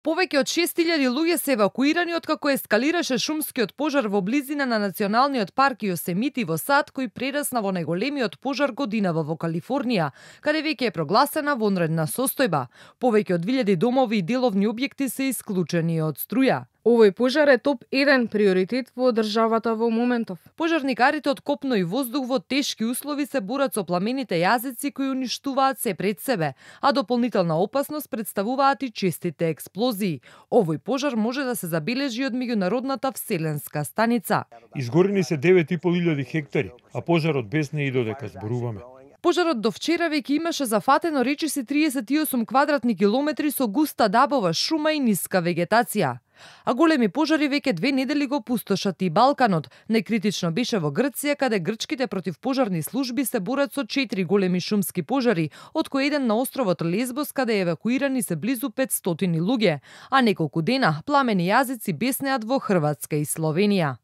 Повеќе од 6000 луѓе се евакуирани откако ескалираше шумскиот пожар во близина на Националниот парк Јосемити во САД, кој прерасна во најголемиот пожар годинава во Калифорнија, каде веќе е прогласена вонредна состојба. Повеќе од 2000 домови и деловни објекти се исклучени од струја. Овој пожар е топ 1 приоритет во државата во моментов. Пожарникарите од копно и воздух во тешки услови се борат со пламените јазици кои уништуваат се пред себе, а дополнителна опасност представуваат и честите експлозии. Овој пожар може да се забележи од меѓународната вселенска станица. Изгорени се 9500 хектари, а пожарот без не и додека зборуваме. Пожарот до вчера веќе имаше зафатено речиси 38 квадратни километри со густа дабова шума и ниска вегетација. А големи пожари веќе 2 недели го пустошат и Балканот. Некритично беше во Грција, каде грчките противпожарни служби се борат со 4 големи шумски пожари, од кои еден на островот Лесбос, каде евакуирани се близу 500 луѓе, а неколку дена пламени јазици беснеат во Хрватска и Словенија.